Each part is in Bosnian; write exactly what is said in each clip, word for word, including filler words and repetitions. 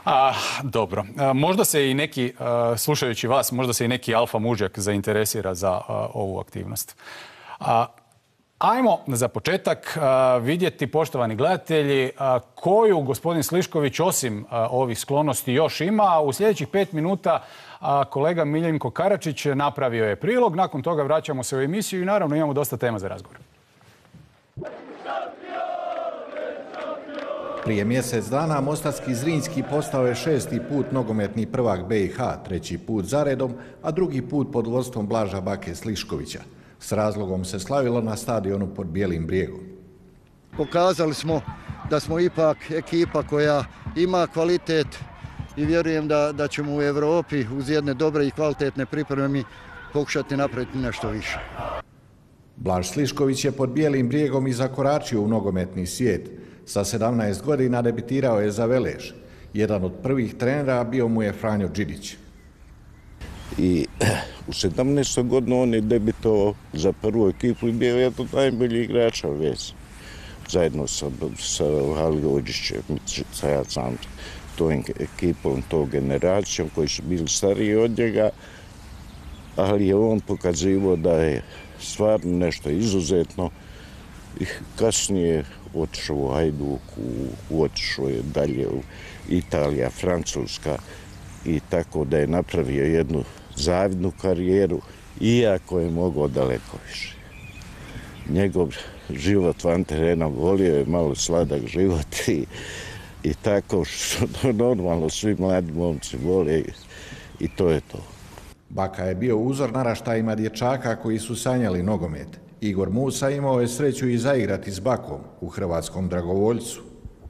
A, dobro. A, možda se i neki, a, slušajući vas, možda se i neki alfa mužjak zainteresira za a, ovu aktivnost. A, ajmo za početak a, vidjeti, poštovani gledatelji, a, koju gospodin Slišković osim a, ovih sklonosti još ima. U sljedećih pet minuta a, kolega Miljenko Karačić napravio je prilog. Nakon toga vraćamo se u emisiju i naravno imamo dosta tema za razgovor. Prije mjesec dana Mostarski Zrinjski postao je šesti put nogometni prvak B i H, treći put zaredom, a drugi put pod vodstvom Blaža Bake Sliškovića. S razlogom se slavilo na stadionu pod Bijelim brijegom. Pokazali smo da smo ipak ekipa koja ima kvalitet i vjerujem da, da ćemo u Evropi uz jedne dobre i kvalitetne pripreme pokušati napraviti nešto više. Blaž Slišković je pod Bijelim brijegom i zakoračio u nogometni svijet. Sa sedamnaest godina debitirao je za Velež. Jedan od prvih trenera bio mu je Franjo Đidić. I u sedamnaestoj godini on je debitovao za prvu ekipu i bio je to najbolji igrača vez. Zajedno sa, sa Haliođićem, sa ja sam tom ekipom, tom generacijom koji su bili stariji od njega, ali je on pokazivao da je stvarno nešto izuzetno i kasnije otišao u Hajduku, otišao je dalje u Italija, Francuska i tako da je napravio jednu zavidnu karijeru, iako je mogao daleko više. Njegov život van terena volio je malo sladak život i, i tako što normalno svi mladi momci vole i, i to je to. Baka je bio uzor naraštajima dječaka koji su sanjali nogomet. Igor Musa imao je sreću i zaigrati s Bakom u hrvatskom Dragovoljcu.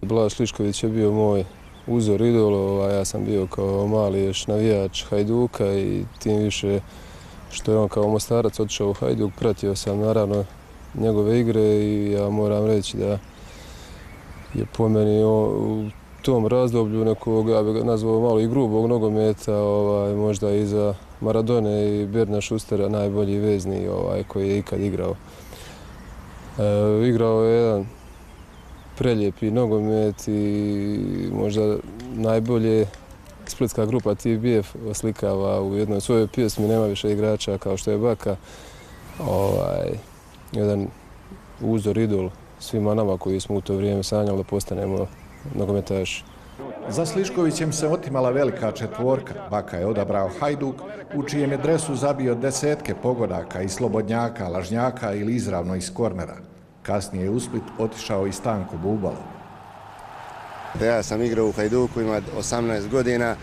Blaž Slišković je bio moj uzor, idol, a ja sam bio kao mali još navijač Hajduka i tim više što je on kao Mostarac otišao u Hajduk, pratio sam naravno njegove igre i ja moram reći da je po meni u tom razdoblju nekog, ja bih ga nazvao malo i grubog nogometa, ovaj, možda i za Maradone i Berna Šustera najbolji vezni ovaj, koji je ikad igrao. E, igrao je jedan prelijepi nogomet i možda najbolje splitska grupa T B F oslikava u jednoj svojoj pjesmi, nema više igrača kao što je Baka. Ovaj, jedan uzor, idol svima nama koji smo u to vrijeme sanjali da postanemo nogometaši. Za Sliškovićem se otimala velika četvorka. Baka je odabrao Hajduk, u čijem je dresu zabio desetke pogodaka i slobodnjaka, lažnjaka ili izravno iz kornera. Kasnije je u Split otišao i Stanko Bubalo. Ja sam igrao u Hajduku, ima osamnaest godina.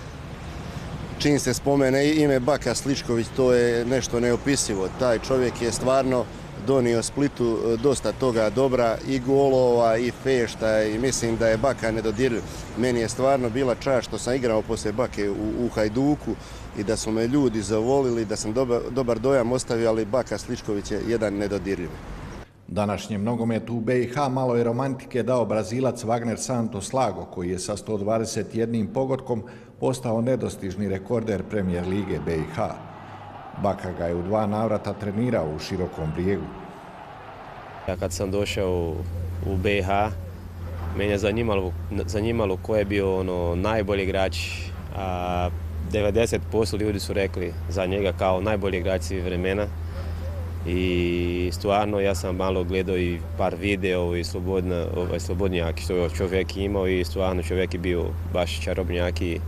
Čim se spomene ime Baka Slišković, to je nešto neopisivo. Taj čovjek je stvarno donio Splitu dosta toga dobra, i golova, i fešta, i mislim da je Baka nedodirljiv. Meni je stvarno bila čast što sam igrao poslije Bake u, u Hajduku i da su me ljudi zavolili, da sam dobar, dobar dojam ostavio, ali Baka Slišković je jedan nedodirljiv. Današnjem nogometu u B i H malo je romantike dao Brazilac Wagner Santos Lago, koji je sa sto dvadeset jednim pogodkom postao nedostižni rekorder Premijer lige B i H. Baka ga je u dva navrata trenirao u Širokom brijegu. Ja kad sam došao u B i H, mene je zanimalo, zanimalo ko je bio ono, najbolji igrač. A devedeset posto ljudi su rekli za njega kao najbolji igrač svih vremena. I stvarno ja sam malo gledao i par video i slobodna, ovaj, slobodnjak što je čovjek imao i stvarno čovjek je bio baš čarobnjak i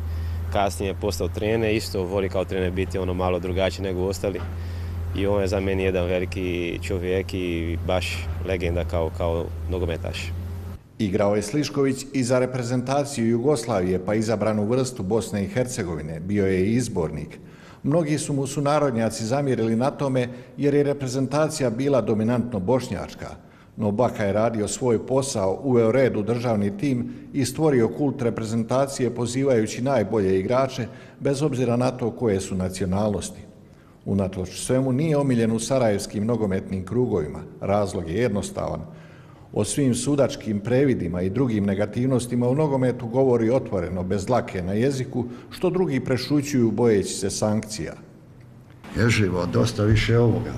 kasnije je postao trener, isto voli kao trener biti ono malo drugačiji nego ostali. I on je za meni jedan veliki čovjek i baš legenda kao, kao nogometaš. Igrao je Slišković i za reprezentaciju Jugoslavije, pa izabranu vrstu Bosne i Hercegovine. Bio je i izbornik. Mnogi su mu sunarodnjaci zamjerili na tome jer je reprezentacija bila dominantno bošnjačka. No Baka je radio svoj posao, uveo red u državni tim i stvorio kult reprezentacije pozivajući najbolje igrače bez obzira na to koje su nacionalnosti. Unatoč svemu nije omiljen u sarajevskim nogometnim krugovima. Razlog je jednostavan. O svim sudačkim previdima i drugim negativnostima u nogometu govori otvoreno, bez dlake na jeziku, što drugi prešućuju bojeći se sankcija. Je živo, dosta više ovoga.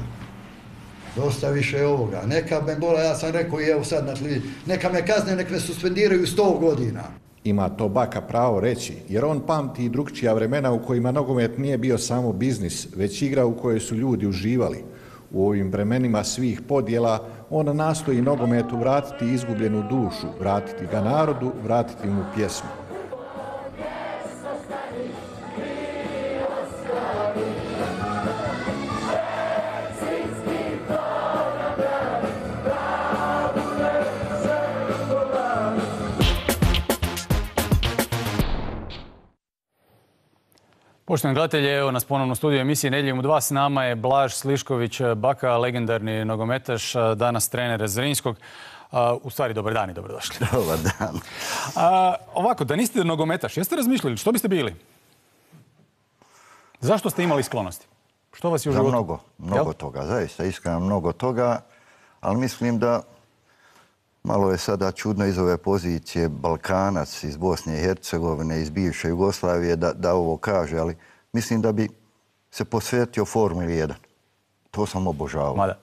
Dosta više ovoga. Neka me bola, ja sam rekao i evo sad na tli, neka me kazne, nek me suspendiraju sto godina. Ima to Baka pravo reći, jer on pamti i drugčija vremena u kojima nogomet nije bio samo biznis, već igra u kojoj su ljudi uživali. U ovim vremenima svih podjela on nastoji nogometu vratiti izgubljenu dušu, vratiti ga narodu, vratiti mu pjesmu. Poštovani gledatelji, evo nas ponovno u studiju emisije Nedjeljom u dva. S nama je Blaž Slišković Baka, legendarni nogometaš, danas trener Zrinjskog. U stvari, dobar dan i dobrodošli. Dobar dan. A, ovako, da niste nogometaš, jeste razmišljali što biste bili? Zašto ste imali sklonosti? Što vas je u životu? Za mnogo, mnogo toga, zaista iskreno mnogo toga, ali mislim da malo je sada čudno iz ove pozicije Balkanac iz Bosne i Hercegovine, iz bivše Jugoslavije, da, da ovo kaže, ali mislim da bi se posvetio Formuli jedan. To sam obožavao. Mada.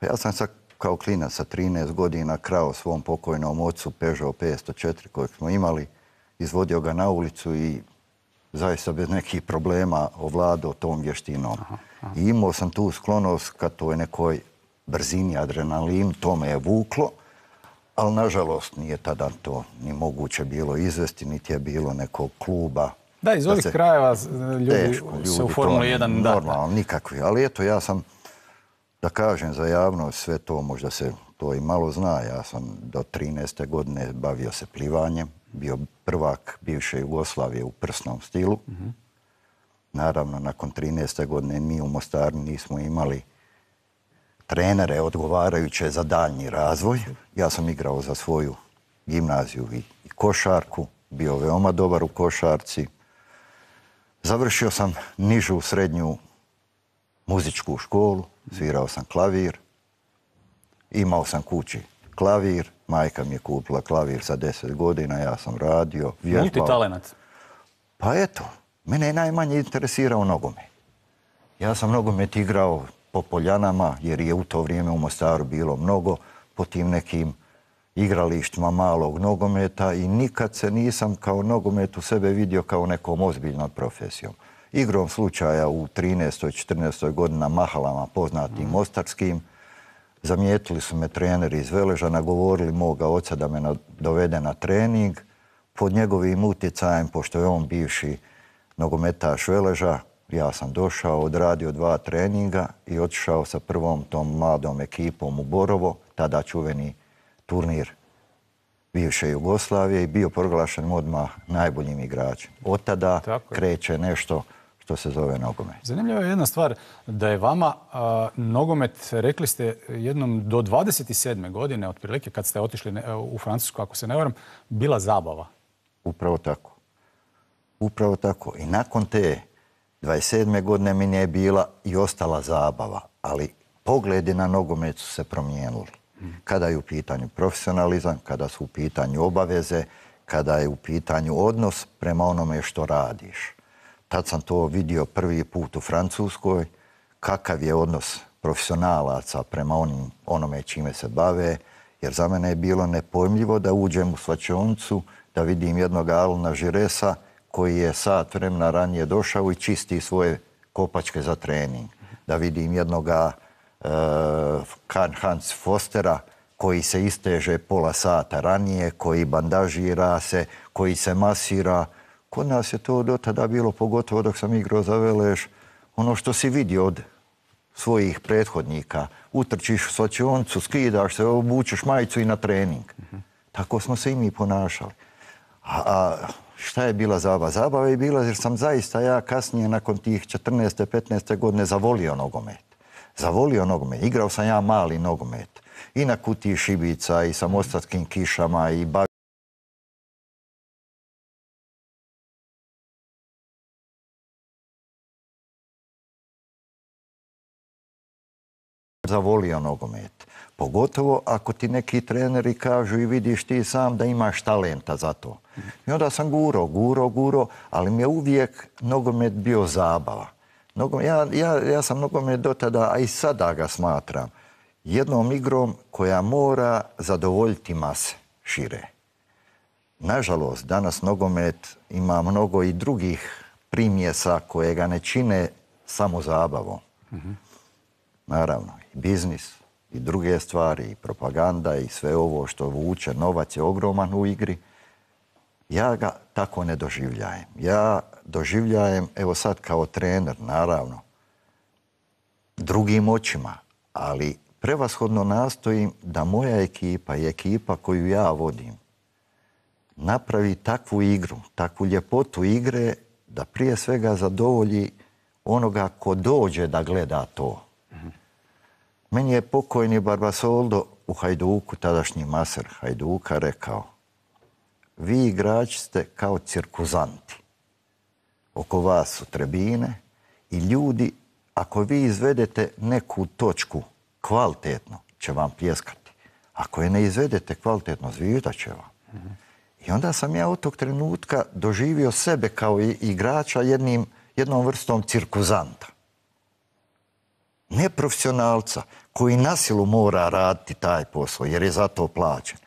Ja sam sad kao klinac sa trinaest godina krao svom pokojnom ocu Peugeot petsto četiri kojeg smo imali, izvodio ga na ulicu i zaista bez nekih problema ovladao tom vještinom. Aha, aha. I imao sam tu sklonost ka toj nekoj brzini, adrenalin, to me je vuklo. Ali, nažalost, nije tada to ni moguće bilo izvesti, niti je bilo nekog kluba. Da, iz ovih krajeva ljudi se u Formuli jedan da. Normalno, nikakvi. Ali eto, ja sam, da kažem za javnost, sve to možda se to i malo zna. Ja sam do trinaeste godine bavio se plivanjem, bio prvak bivše Jugoslavije u prsnom stilu. Naravno, nakon trinaeste godine mi u Mostaru nismo imali trenere odgovarajuće za daljnji razvoj. Ja sam igrao za svoju gimnaziju i, i košarku, bio veoma dobar u košarci. Završio sam nižu srednju muzičku školu, svirao sam klavir, imao sam kući klavir, majka mi je kupila klavir sa deset godina, ja sam radio, vježbao. Multitalenat. Pa eto, mene je najmanje interesirao nogomet. Ja sam nogomet igrao po poljanama, jer je u to vrijeme u Mostaru bilo mnogo, po tim nekim igralištima malog nogometa i nikad se nisam kao nogomet u sebe vidio kao nekom ozbiljnom profesijom. Igrom slučaja u trinaestoj četrnaestoj godini na mahalama poznatim mostarskim, zamijetili su me treneri iz Veleža, nagovorili moga oca da me dovede na trening. Pod njegovim utjecajem, pošto je on bivši nogometaš Veleža, ja sam došao, odradio dva treninga i otišao sa prvom tom mladom ekipom u Borovo, tada čuveni turnir bivše Jugoslavije i bio proglašen odmah najboljim igračem. Od tada kreće nešto što se zove nogomet. Zanimljiva je jedna stvar, da je vama a, nogomet, rekli ste jednom do dvadeset sedme godine, otprilike kad ste otišli ne, u Francusku, ako se ne varam, bila zabava. Upravo tako. Upravo tako. I nakon te dvadeset sedme godine mi je bila i ostala zabava, ali pogledi na nogomet su se promijenili. Kada je u pitanju profesionalizam, kada su u pitanju obaveze, kada je u pitanju odnos prema onome što radiš. Tad sam to vidio prvi put u Francuskoj, kakav je odnos profesionalaca prema onim, onome čime se bave, jer za mene je bilo nepojmljivo da uđem u slačionicu, da vidim jednog Alana Žiresa koji je sat vremena ranije došao i čisti svoje kopačke za trening. Da vidim jednoga uh, Karl-Heinz Förstera koji se isteže pola sata ranije, koji bandažira se, koji se masira. Kod nas je to do tada bilo, pogotovo dok sam igrao za Velež, ono što si vidio od svojih prethodnika. Utrčiš u slačionicu, skidaš se, obučeš majicu i na trening. Uh-huh. Tako smo se i mi ponašali. A, a šta je bila zabava? Zabava je bila jer sam zaista ja kasnije nakon tih četrnaeste petnaeste godine zavolio nogomet. Zavolio nogomet. Igrao sam ja mali nogomet. I na Kutiji Šibica, i sa Mostarskim Kišama, i bavio zavolio nogomet. Pogotovo ako ti neki treneri kažu i vidiš ti sam da imaš talenta za to. I onda sam guro, guro, guro, ali mi je uvijek nogomet bio zabava. Nogomet, ja, ja, ja sam nogomet do tada, a i sada ga smatram, jednom igrom koja mora zadovoljiti mase šire. nažalost, danas nogomet ima mnogo i drugih primjesa koje ga ne čine samo zabavom. Mm-hmm. Naravno, i biznis, i druge stvari, i propaganda, i sve ovo što vuče, novac je ogroman u igri. Ja ga tako ne doživljajem. Ja doživljajem, evo sad kao trener, naravno, drugim očima, ali prevashodno nastojim da moja ekipa i ekipa koju ja vodim napravi takvu igru, takvu ljepotu igre da prije svega zadovolji onoga ko dođe da gleda to. Mm-hmm. Meni je pokojni Barbasoldo u Hajduku, tadašnji maser Hajduka, rekao: vi igrači ste kao cirkuzanti. Oko vas su tribine i ljudi, ako vi izvedete neku točku kvalitetno, će vam pljeskati. Ako je ne izvedete kvalitetno, zviždat će vam. Mm-hmm. I onda sam ja od tog trenutka doživio sebe kao igrača jednim, jednom vrstom cirkuzanta. Neprofesionalca koji na silu mora raditi taj posao jer je za to plaćen.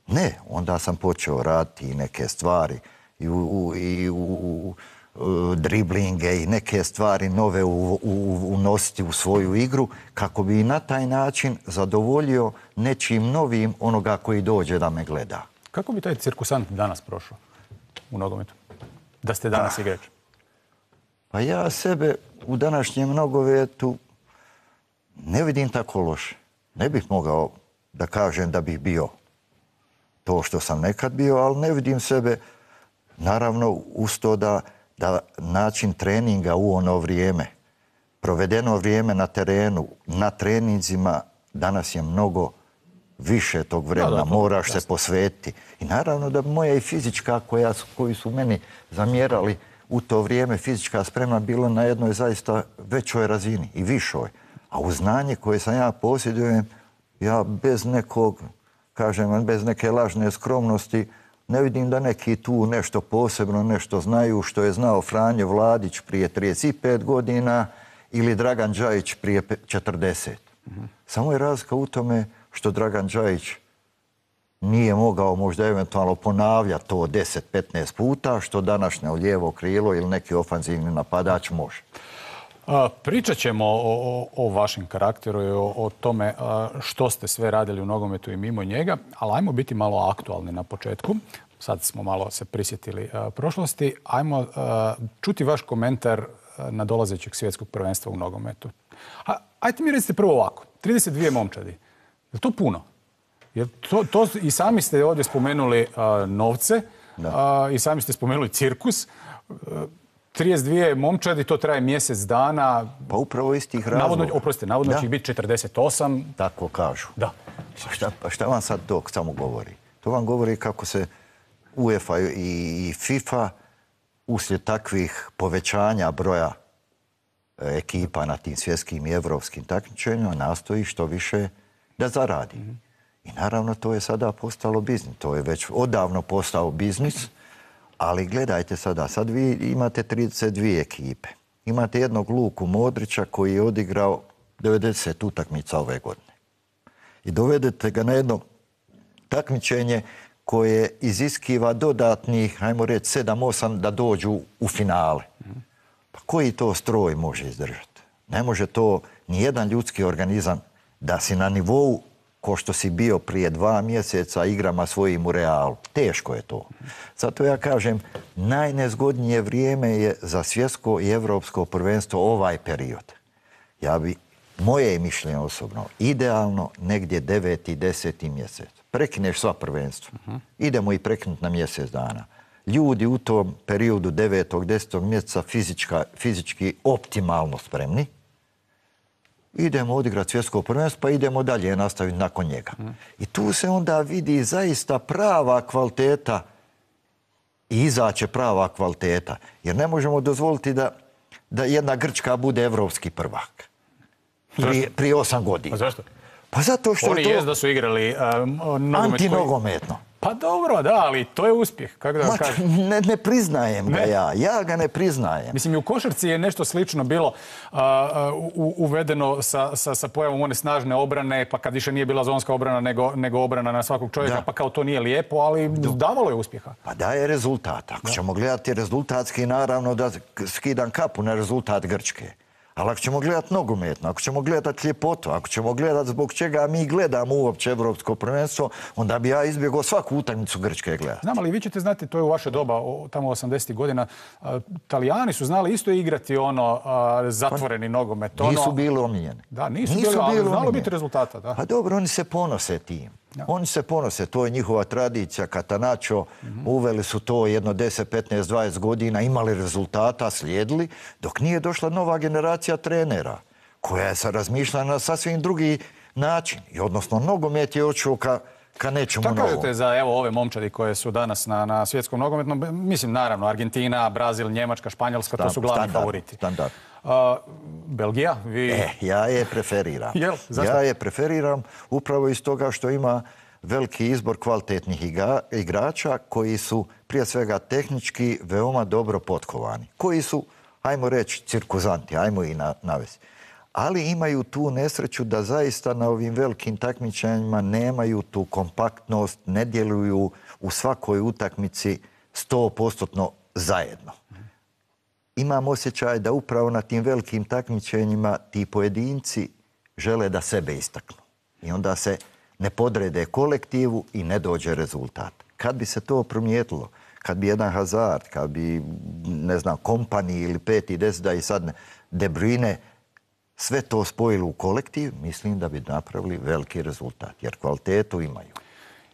Ne, onda sam počeo raditi i neke stvari i u, u, i u, u, u driblinge i neke stvari nove u, u, unositi u svoju igru kako bi na taj način zadovoljio nečim novim onoga koji dođe da me gleda. Kako bi taj cirkusant danas prošao u nogometu? Da ste danas igrač? Pa ja sebe u današnjem nogometu ne vidim tako loše. Ne bih mogao da kažem da bih bio to što sam nekad bio, ali ne vidim sebe, naravno, uz to da, da način treninga u ono vrijeme, provedeno vrijeme na terenu, na treninzima, danas je mnogo više tog vremena, da, da, moraš jasno se posvetiti. I naravno da moja i fizička koja su, koji su meni zamjerali u to vrijeme, fizička spremna bila na jednoj zaista većoj razini i višoj. A u znanje koje sam ja posjedujem, ja bez nekog, kažem, bez neke lažne skromnosti, ne vidim da neki tu nešto posebno, nešto znaju što je znao Franjo Vladić prije trideset pet godina ili Dragan Đajić prije četrdeset. Mm-hmm. Samo je razlika u tome što Dragan Đajić nije mogao možda eventualno ponavljati to deset do petnaest puta, što današnje lijevo krilo ili neki ofanzivni napadač može. A, pričat ćemo o, o, o vašem karakteru i o, o tome a, što ste sve radili u nogometu i mimo njega, ali ajmo biti malo aktualni na početku. Sad smo malo se prisjetili a, prošlosti. Ajmo a, čuti vaš komentar na dolazećeg svjetskog prvenstva u nogometu. A, ajte mi recite prvo ovako. trideset dvije momčadi. Je to puno? Jer to, to, i sami ste ovdje spomenuli a, novce, a, i sami ste spomenuli cirkus. A, trideset dvije momčadi, to traje mjesec dana. Pa upravo iz tih razloga. Navodno, oprostite, navodno će ih biti četrdeset osam. Tako kažu. Da. Pa šta, pa šta vam sad to samo govori? To vam govori kako se UEFA i FIFA uslijed takvih povećanja broja ekipa na tim svjetskim i evropskim takmičenjima nastoji što više da zaradi. Mm-hmm. I naravno to je sada postalo biznis. To je već odavno postao biznis. Ali gledajte sada, sad vi imate trideset dvije ekipe. Imate jednog Luku Modrića koji je odigrao devedeset utakmica ove godine. I dovedete ga na jedno takmičenje koje iziskiva dodatnih, hajmo reći, sedam osam da dođu u finale. Pa koji to stroj može izdržati? Ne može to nijedan ljudski organizam da si na nivou ko što si bio prije dva mjeseca igrama svojim u Realu. Teško je to. Zato ja kažem, najnezgodnije vrijeme je za svjetsko i evropsko prvenstvo ovaj period. Ja bi, moje mišljenje osobno, idealno negdje deveti, deseti mjesec. Prekineš sva prvenstva. Idemo i prekinuti na mjesec dana. Ljudi u tom periodu devetog, desetog mjeseca fizička, fizički optimalno spremni. Idemo odigrati svjetsko prvenstvo, pa idemo dalje nastaviti nakon njega. Mm. I tu se onda vidi zaista prava kvaliteta i izaće prava kvaliteta. Jer ne možemo dozvoliti da, da jedna Grčka bude evropski prvak. Prije, prije osam godina. A zašto? Pa zato što Oni je to jest da su igrali uh, nogomet antinogometno. Pa dobro, da, ali to je uspjeh. Kako da Ma, kažem? ne, ne priznajem ga Ne? ja. Ja ga ne priznajem. Mislim, i u košarci je nešto slično bilo a, u, uvedeno sa, sa, sa pojavom one snažne obrane, pa kad više nije bila zonska obrana nego, nego obrana na svakog čovjeka, Da. pa kao to nije lijepo, ali davalo je uspjeha. Pa daje rezultat. Ako ćemo gledati rezultatski, naravno da skidam kapu na rezultat Grčke. Ali ako ćemo gledati nogometno, ako ćemo gledati ljepotu, ako ćemo gledati zbog čega mi gledamo uopće evropsko prvenstvo, onda bi ja izbjegao svaku utakmicu Grčke gledati. Znam, ali vi ćete znati, to je u vaše doba, o, tamo osamdesetih godina, a, Talijani su znali isto igrati ono a, zatvoreni nogomet. Ono... Nisu bili omiljeni. Da, nisu, nisu bili, ali znalo omiljeni. biti rezultata. Da. Pa dobro, oni se ponose tim. Ja. Oni se ponose, to je njihova tradicija. Catanaccio, mm-hmm. uveli su to jedno deset, petnaest, dvadeset godina, imali rezultata, slijedili, dok nije došla nova generacija trenera, koja je sa razmišljala na sasvim drugi način. I odnosno, nogomet je očeo ka, ka nečemu novom. Šta kažete za evo, ove momčadi koje su danas na, na svjetskom nogometnom? Mislim, naravno, Argentina, Brazil, Njemačka, Španjolska, to su glavni standard, favoriti. Standard. Uh, Belgija? Vi... E, ja je preferiram. Jel? Zašto? Ja je preferiram upravo iz toga što ima veliki izbor kvalitetnih iga, igrača koji su prije svega tehnički veoma dobro potkovani. Koji su, ajmo reći, cirkuzanti, ajmo i na, navesti. Ali imaju tu nesreću da zaista na ovim velikim takmičenjima nemaju tu kompaktnost, ne djeluju u svakoj utakmici sto posto zajedno. Imam osjećaj da upravo na tim velikim takmičenjima ti pojedinci žele da sebe istaknu. I onda se ne podrede kolektivu i ne dođe rezultat. Kad bi se to promijetilo, kad bi jedan Hazard, kad bi, ne znam, Kompani ili peti, deset, da i sad ne, De Bruyne, sve to spojilo u kolektiv, mislim da bi napravili veliki rezultat, jer kvalitetu imaju.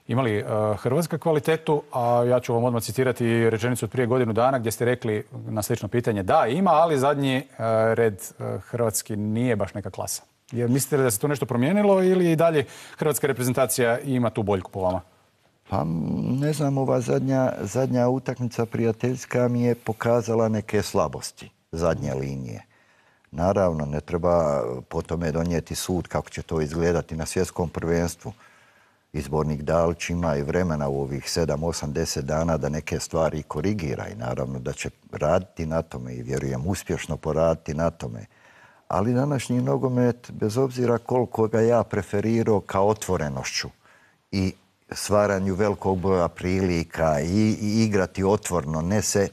Imali uh, Hrvatska kvalitetu, a ja ću vam odmah citirati rečenicu od prije godinu dana gdje ste rekli na slično pitanje da, ima, ali zadnji uh, red uh, hrvatski nije baš neka klasa. Jer mislite da se to nešto promijenilo ili i dalje hrvatska reprezentacija ima tu boljku po vama? Pa ne znam, ova zadnja, zadnja utakmica prijateljska mi je pokazala neke slabosti zadnje linije. Naravno, ne treba po tome donijeti sud kako će to izgledati na svjetskom prvenstvu. Izbornik Dalić ima i vremena u ovih sedam, osam, deset dana da neke stvari korigira i naravno da će raditi na tome i vjerujem uspješno poraditi na tome. Ali današnji nogomet, bez obzira koliko ga ja preferirao kao otvorenošću i stvaranju velikog broja prilika i, i igrati otvorno, ne se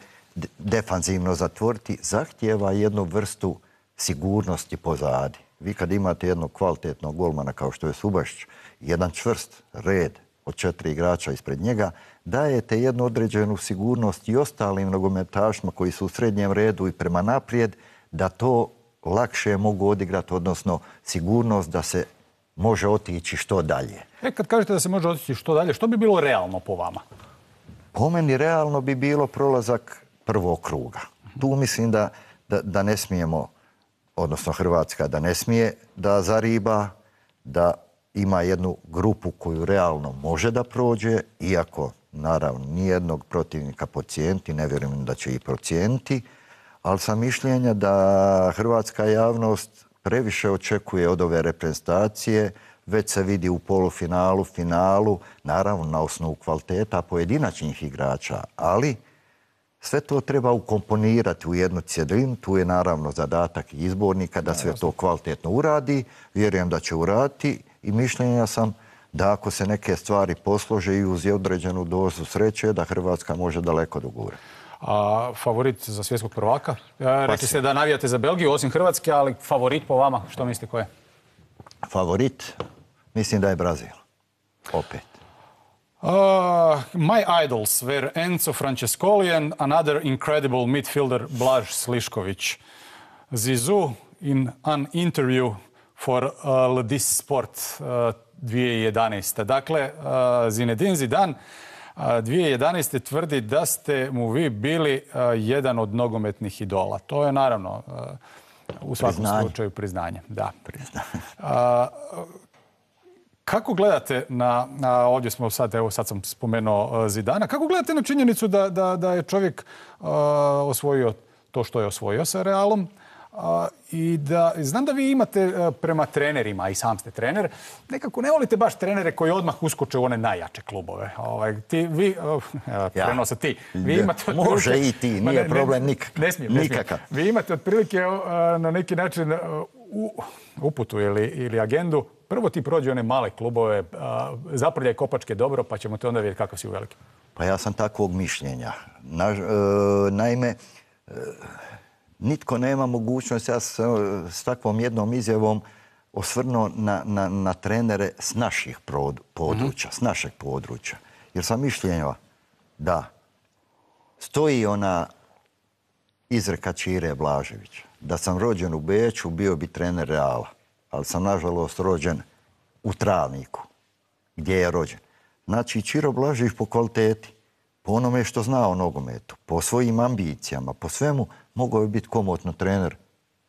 defanzivno zatvoriti, zahtijeva jednu vrstu sigurnosti pozadi. Vi kad imate jednog kvalitetnog golmana kao što je Subašić, jedan čvrst red od četiri igrača ispred njega, dajete jednu određenu sigurnost i ostalim nogometašima koji su u srednjem redu i prema naprijed, da to lakše mogu odigrati, odnosno sigurnost da se može otići što dalje. E, kad kažete da se može otići što dalje, što bi bilo realno po vama? Po meni realno bi bilo prolazak prvog kruga. Tu mislim da, da, da ne smijemo, odnosno Hrvatska da ne smije da zariba, da ima jednu grupu koju realno može da prođe, iako naravno nijednog protivnika procijeniti, ne vjerujem da će i procijeniti, ali sam mišljenja da hrvatska javnost previše očekuje od ove reprezentacije, već se vidi u polufinalu, finalu, naravno na osnovu kvaliteta pojedinačnih igrača, ali sve to treba ukomponirati u jednu cjelinu, tu je naravno zadatak izbornika da sve to kvalitetno uradi, vjerujem da će uraditi i mišljenja sam da ako se neke stvari poslože i uz određenu dozu sreće, da Hrvatska može daleko dogurati. A favorit za svjetskog prvaka? Rekli ste da navijate za Belgiju, osim Hrvatske, ali favorit po vama, što mislite ko je? Favorit? Mislim da je Brazil. Opet. Uh, my idols were Enzo Francescoli and another incredible midfielder Blaž Slišković. Zizou in an interview for uh, Le dix Sport uh, dvije tisuće jedanaeste. Dakle, uh, Zinedine Zidane uh, dvije tisuće jedanaeste tvrdi da ste mu vi bili uh, jedan od nogometnih idola. To je naravno uh, u svakom priznanje. slučaju priznanje. Da. Priznanje. Uh, Kako gledate na, na ovdje smo sad, evo sad sam spomenuo Zidana, kako gledate na činjenicu da, da, da je čovjek uh, osvojio to što je osvojio sa Realom, I da, znam da vi imate prema trenerima, i sam ste trener, nekako ne volite baš trenere koji odmah uskoče u one najjače klubove. Ovaj, ti, vi, ja. Prenose ti. Vi imate može i ti, nije ne, problem nikakav. Ne smijem, ne smijem. Vi imate otprilike na neki način uputu ili, ili agendu. Prvo ti prođe one male klubove, zaprljaj kopačke dobro, pa ćemo te onda vidjeti kakav si u velikim. Pa ja sam takvog mišljenja. Na, e, naime, e, nitko nema mogućnost, ja sam s takvom jednom izjavom osvrnuo na, na, na trenere s naših područja, mm-hmm. s našeg područja. Jer sam mišljenja da stoji ona izreka Čire Blaževića. Da sam rođen u Beču, bio bi trener Reala. Ali sam, nažalost, rođen u Travniku, gdje je rođen. Znači, Čiro Blažević po kvaliteti, po onome što zna o nogometu, po svojim ambicijama, po svemu, mogao je biti komotno trener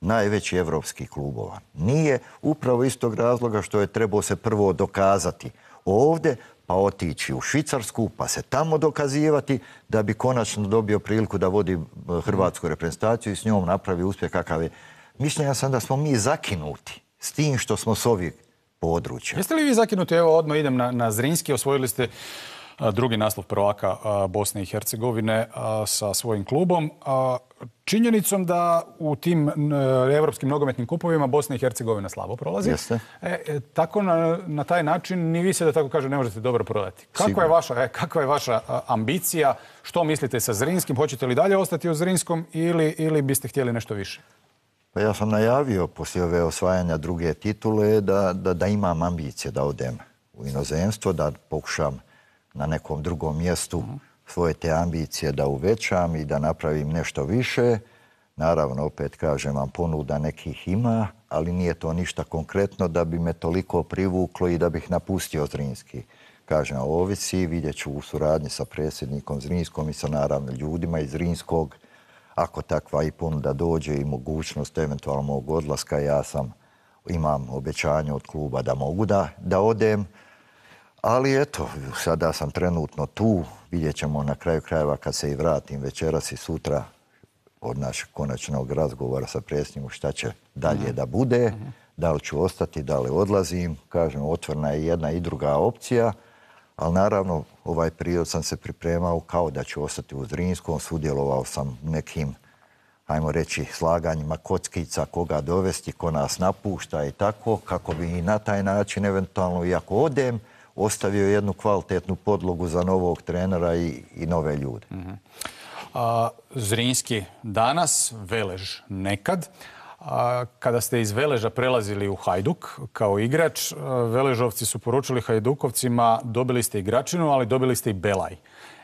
najveći evropskih klubova. Nije upravo iz tog razloga što je trebao se prvo dokazati ovdje, pa otići u Švicarsku, pa se tamo dokazivati, da bi konačno dobio priliku da vodi hrvatsku reprezentaciju i s njom napravi uspjeh kakav je. Mišljenja sam da smo mi zakinuti s tim što smo s ovih područja. Jeste li vi zakinuti? Evo, odmah idem na, na Zrinski. Osvojili ste a, drugi naslov prvaka a, Bosne i Hercegovine a, sa svojim klubom. A, činjenicom da u tim evropskim nogometnim kupovima Bosna i Hercegovina slabo prolazi. Jeste. E, e, tako na, na taj način ni vi se, da tako kažem, ne možete dobro prodati. Kakva je vaša, e, kakva je vaša a, ambicija? Što mislite sa Zrinskim? Hoćete li dalje ostati u Zrinskom ili, ili biste htjeli nešto više? Pa ja sam najavio poslije ove osvajanja druge titule da, da, da imam ambicije da odem u inozemstvo, da pokušam na nekom drugom mjestu svoje te ambicije da uvećam i da napravim nešto više. Naravno, opet kažem vam, ponuda nekih ima, ali nije to ništa konkretno da bi me toliko privuklo i da bih napustio Zrinski. Kažem, ovisi, vidjet ću u suradnji sa predsjednikom Zrinskom i sa naravno ljudima iz Zrinskog. Ako takva i ponuda dođe i mogućnost eventualno mog odlaska, ja sam, imam obećanje od kluba da mogu da, da odem. Ali eto, sada sam trenutno tu, vidjet ćemo na kraju krajeva kad se i vratim večeras i sutra od našeg konačnog razgovora sa predsjednikom šta će dalje mm-hmm. da bude, mm-hmm. da li ću ostati, da li odlazim. Kažem, otvorena je jedna i druga opcija. Ali naravno, ovaj period sam se pripremao kao da ću ostati u Zrinskom, sudjelovao sam nekim, ajmo reći, slaganjima kockica, koga dovesti, ko nas napušta i tako, kako bi i na taj način, eventualno, iako odem, ostavio jednu kvalitetnu podlogu za novog trenera i, i nove ljude. Mm-hmm. A, Zrinski danas, Velež nekad. A, kada ste iz Veleža prelazili u Hajduk kao igrač, Veležovci su poručili Hajdukovcima dobili ste igračinu, ali dobili ste i Belaj.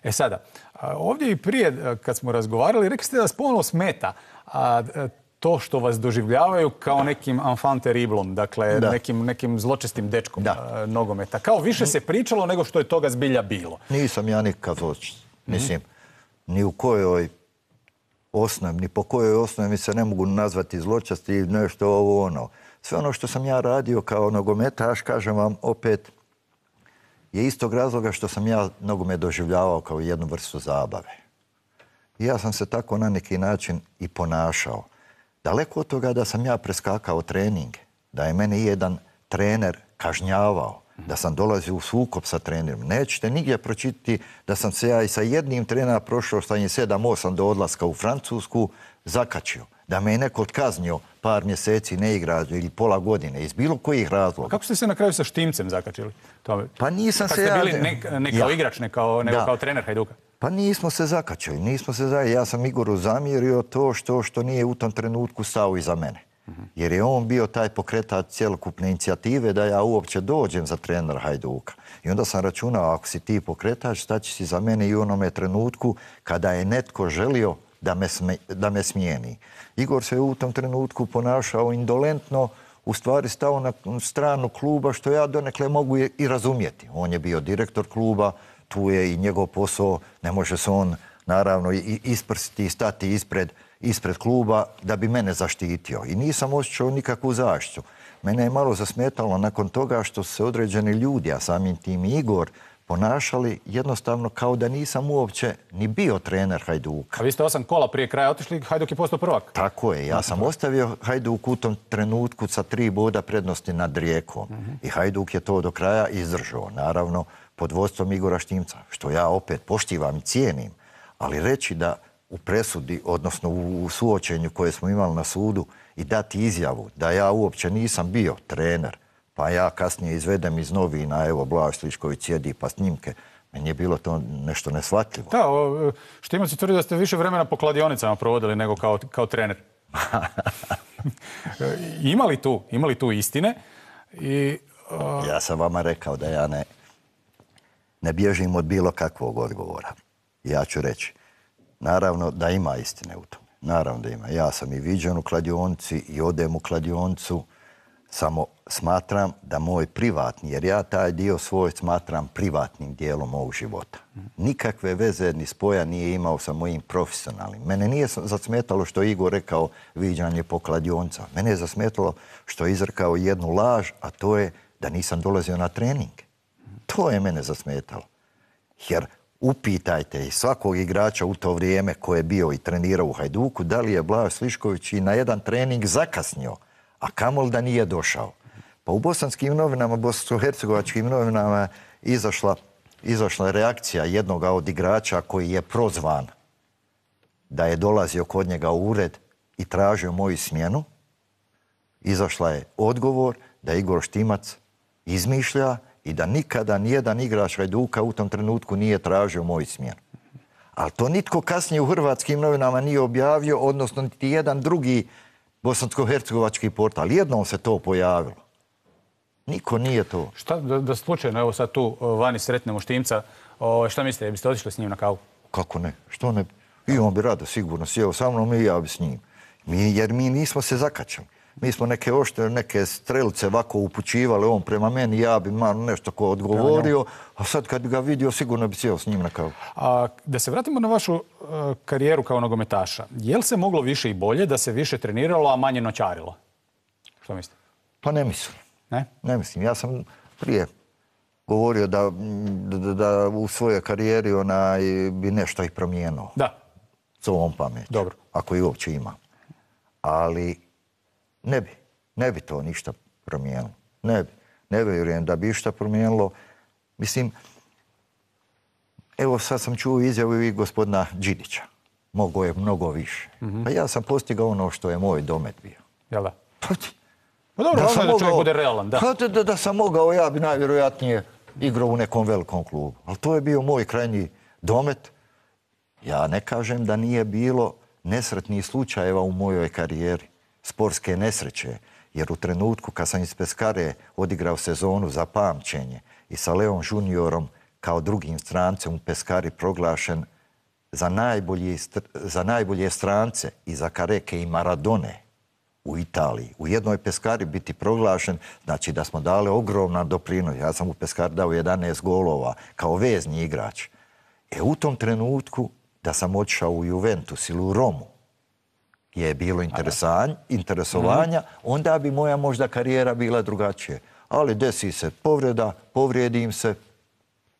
E sada, ovdje i prije kad smo razgovarali, rekli ste da vas ponovno smeta a, to što vas doživljavaju kao nekim enfant terriblom, dakle nekim, nekim zločestim dečkom da. nogometa. Kao više se pričalo nego što je toga zbilja bilo. Nisam ja nikad zločest. Mislim, mm-hmm. ni u kojoj osnovi, ni po kojoj osnovi mi se ne mogu nazvati zločesti i nešto ovo ono. Sve ono što sam ja radio kao nogometaš, kažem vam opet, je istog razloga što sam ja nogomet doživljavao kao jednu vrstu zabave. I ja sam se tako na neki način i ponašao. Daleko od toga da sam ja preskakao treninge, da je mene jedan trener kažnjavao, da sam dolazio u sukob sa trenerom. Nećete nigdje pročitati da sam se ja i sa jednim trenerom prošao stanje sedam osam do odlaska u Francusku zakačio. Da me je neko odkaznio par mjeseci ne igra ili pola godine iz bilo kojih razloga. Kako ste se na kraju sa Štimcem zakačili? To... Pa nisam Tako se ja... Kako ste bili ne, ne kao ja. igrač, ne kao, nego kao trener Hajduka? Pa nismo se zakačili, nismo se zakačili. Ja sam Igoru zamjerio to što, što nije u tom trenutku stao iza mene. Jer je on bio taj pokretač cjelokupne inicijative da ja uopće dođem za trenera Hajduka. I onda sam računao, ako si ti pokretač, staći si za mene i u onome trenutku kada je netko želio da me, sme, da me smijeni. Igor se u tom trenutku ponašao indolentno, u stvari stao na stranu kluba, što ja donekle mogu i razumjeti. On je bio direktor kluba, tu je i njegov posao, ne može se on naravno i isprstiti i stati ispred ispred kluba da bi mene zaštitio. I nisam osjećao nikakvu zaštitu. Mene je malo zasmetalo nakon toga što se određeni ljudi, a samim tim i Igor, ponašali jednostavno kao da nisam uopće ni bio trener Hajduka. A vi ste osam kola prije kraja otišli, Hajduk je postao prvak. Tako je, ja sam ostavio Hajduk u tom trenutku sa tri boda prednosti nad Rijekom. I Hajduk je to do kraja izdržao, naravno, pod vodstvom Igora Štimca, što ja opet poštivam i cijenim, ali reći da u presudi, odnosno u suočenju koje smo imali na sudu i dati izjavu da ja uopće nisam bio trener, pa ja kasnije izvedem iz novina, evo, Blaž Slišković sjedi pa snimke, meni je bilo to nešto nesvatljivo. Da, Štimac je tvrdio da ste više vremena po kladionicama provodili nego kao, kao trener. Imali tu, imali tu istine? I, uh... Ja sam vama rekao da ja ne, ne bježim od bilo kakvog odgovora. Ja ću reći, naravno da ima istine u tome. Naravno da ima. Ja sam i viđen u kladionici i odem u kladionicu, samo smatram da moj privatni, jer ja taj dio svoj smatram privatnim dijelom mog života. Nikakve veze ni spoja nije imao sa mojim profesionalnim. Mene nije zasmetalo što je Igor rekao viđanje po kladionica. Mene je zasmetalo što je izrekao jednu laž, a to je da nisam dolazio na treninge. To je mene zasmetalo. Jer upitajte i svakog igrača u to vrijeme koje je bio i trenirao u Hajduku, da li je Blaž Slišković i na jedan trening zakasnio, a kamol da nije došao. Pa u bosanskim novinama, bosansko-hercegovačkim novinama izašla, izašla reakcija jednog od igrača koji je prozvan da je dolazio kod njega u ured i tražio moju smjenu. Izašla je odgovor da Igor Štimac izmišlja i da nikada nijedan igrač Hajduka u tom trenutku nije tražio moju smjenu. Ali to nitko kasnije u hrvatskim novinama nije objavio, odnosno niti jedan drugi bosansko-hercegovački portal. Jednom se to pojavilo. Niko nije to. Šta da, da slučajno, evo sad tu vani sretnemo Štimca, o, šta mislite, biste otišli s njim na kavu? Kako ne? Što ne? I on bi rado sigurno sjeo sa mnom i ja bi s njim. Mi, jer mi nismo se zakačali. Mi smo neke oštre, neke strelice ovako upućivali on prema meni, ja bi malo nešto ko odgovorio, a sad kad bi ga vidio, sigurno bi sjeo s njim na kavu. A, da se vratimo na vašu uh, karijeru kao nogometaša. Je li se moglo više i bolje da se više treniralo, a manje noćarilo? Što mislite? Pa ne mislim. Ne? Ne mislim. Ja sam prije govorio da, da, da u svojoj karijeri ona bi nešto i promijenuo. Da. S ovom pameću. Dobro. Ako i uopće ima. Ali ne bi. Ne bi to ništa promijenilo. Ne bi. Ne vjerujem da bi išta promijenilo. Mislim, evo sad sam čuo izjavu i gospodina Đidića. Mogo je mnogo više. Mm-hmm. Pa ja sam postigao ono što je moj domet bio. Jel da? Pa, pa dobro, da, da čovjek bude realan, da. Pa da, da sam mogao, ja bi najvjerojatnije igrao u nekom velikom klubu. Ali to je bio moj krajnji domet. Ja ne kažem da nije bilo nesretnih slučajeva u mojoj karijeri. Sportske nesreće. Jer u trenutku kad sam iz Peskare odigrao sezonu za pamćenje i sa Leon Juniorom kao drugim strancem u Peskari proglašen za, najbolji, za najbolje strance i za Kareke i Maradone u Italiji. U jednoj Peskari biti proglašen, znači da smo dali ogromna doprinos. Ja sam u Peskari dao jedanaest golova kao vezni igrač. E u tom trenutku da sam otišao u Juventus ili u Romu, gdje je bilo interesovanja, mm-hmm. onda bi moja možda karijera bila drugačije. Ali desi se povreda, povrijedim se,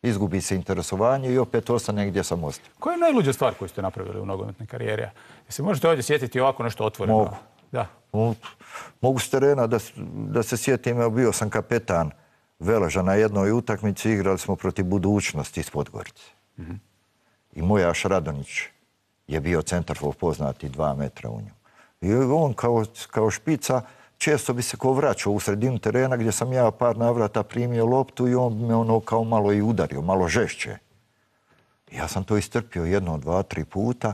izgubi se interesovanje i opet ostane gdje sam ostao. Koja je najluđa stvar koju ste napravili u nogometnoj karijeri? Jesi možete ovdje sjetiti ovako nešto otvoreno? Mogu. Da. Mogu, mogu s terena da, da se sjetim, bio sam kapetan Veleža na jednoj utakmici, igrali smo protiv Budućnosti iz Podgorice. Mm-hmm. I Mojaš Radonić je bio centarfor poznati dva metra u njemu. I on kao, kao špica često bi se ko vraćao u sredinu terena gdje sam ja par navrata primio loptu i on me ono kao malo i udario, malo žešće. Ja sam to istrpio jedno, dva, tri puta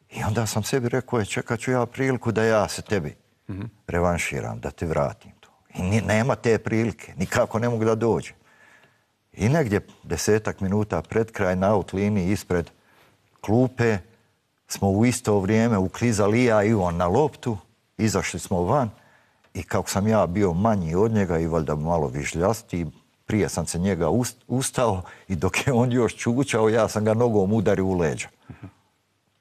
i onda sam sebi rekao, čekat ću ja priliku da ja se tebi mm-hmm. revanširam, da te vratim to. I nema te prilike, nikako ne mogu da dođe. I negdje desetak minuta pred kraj na out liniji ispred klupe smo u isto vrijeme uklizali ja i on na loptu, izašli smo van i kako sam ja bio manji od njega i valjda malo vižljasti, prije sam se njega ustao i dok je on još čučao, ja sam ga nogom udario u leđa.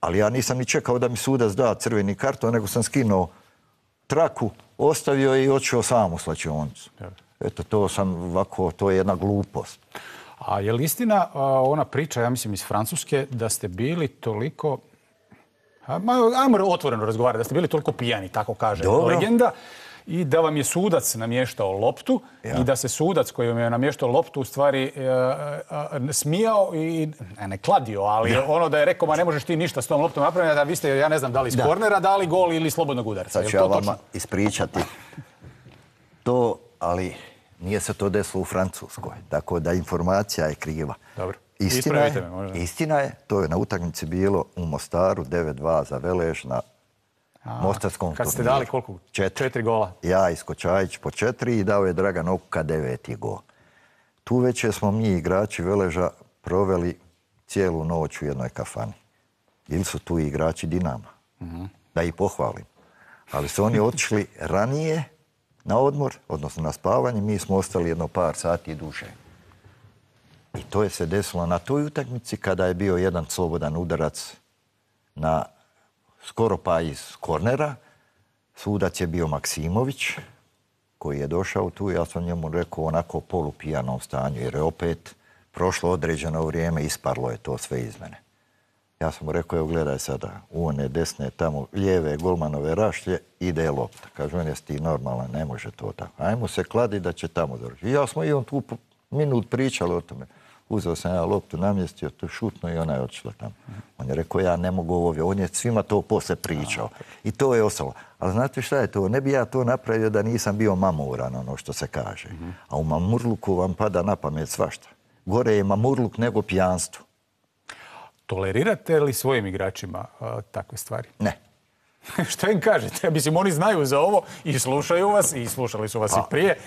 Ali ja nisam ni čekao da mi sudac da crveni karton, nego sam skinuo traku, ostavio i otišao sam u slačionicu. Eto, to sam ovako, to je jedna glupost. A je li istina ona priča, ja mislim iz Francuske, da ste bili toliko, ajmo otvoreno razgovarati, da ste bili toliko pijani, tako kaže Dobro. legenda, i da vam je sudac namještao loptu ja. i da se sudac koji vam je namještao loptu u stvari e, e, smijao i, ne, ne kladio, ali ja. ono da je rekao, ma ne možeš ti ništa s tom loptom napraviti, da vi ste, ja ne znam, da li iz da. kornera, dali gol ili slobodnog udarca. Sad ću ja vama ispričati to, ali nije se to desilo u Francuskoj, tako da informacija je kriva. Dobro. Istina je, me, istina je, to je na utakmici bilo u Mostaru devet dva za Velež na A, Mostarskom kad ste turniru. dali koliko? Četiri. Četiri gola? Ja i Skočajić po četiri i dao je Dragan Okuka deveti gol. Tu već smo mi igrači Veleža proveli cijelu noć u jednoj kafani. Ili su tu igrači Dinama. Mm-hmm. Da ih pohvalim. Ali su oni otišli ranije na odmor, odnosno na spavanje, mi smo ostali jedno par sati duže. I to je se desilo na toj utakmici kada je bio jedan slobodan udarac na skoro pa iz kornera. Sudac je bio Maksimović, koji je došao tu. Ja sam njemu rekao onako polupijanom stanju, jer je opet prošlo određeno vrijeme, isparlo je to sve iz mene. Ja sam mu rekao, evo gledaj sada, u one desne, tamo lijeve golmanove rašlje, ide lopta. Kaže, on jesi ti normalan, ne može to tako. Ajmo se kladi da će tamo završiti. Ja smo i on tu minut pričali o tome. Uzeo sam ja loptu, namjestio, to šutno i ona je odšla tamo. On je rekao, ja ne mogu ovdje. On je svima to posle pričao. I to je ostalo. Ali znate šta je to? Ne bi ja to napravio da nisam bio mamuran, ono što se kaže. A u mamurluku vam pada na pamet svašta. Gore je mamurluk nego pijanstvo. Tolerirate li svojim igračima a, takve stvari? Ne. Šta im kažete? Mislim, oni znaju za ovo i slušaju vas i slušali su vas a, i prije.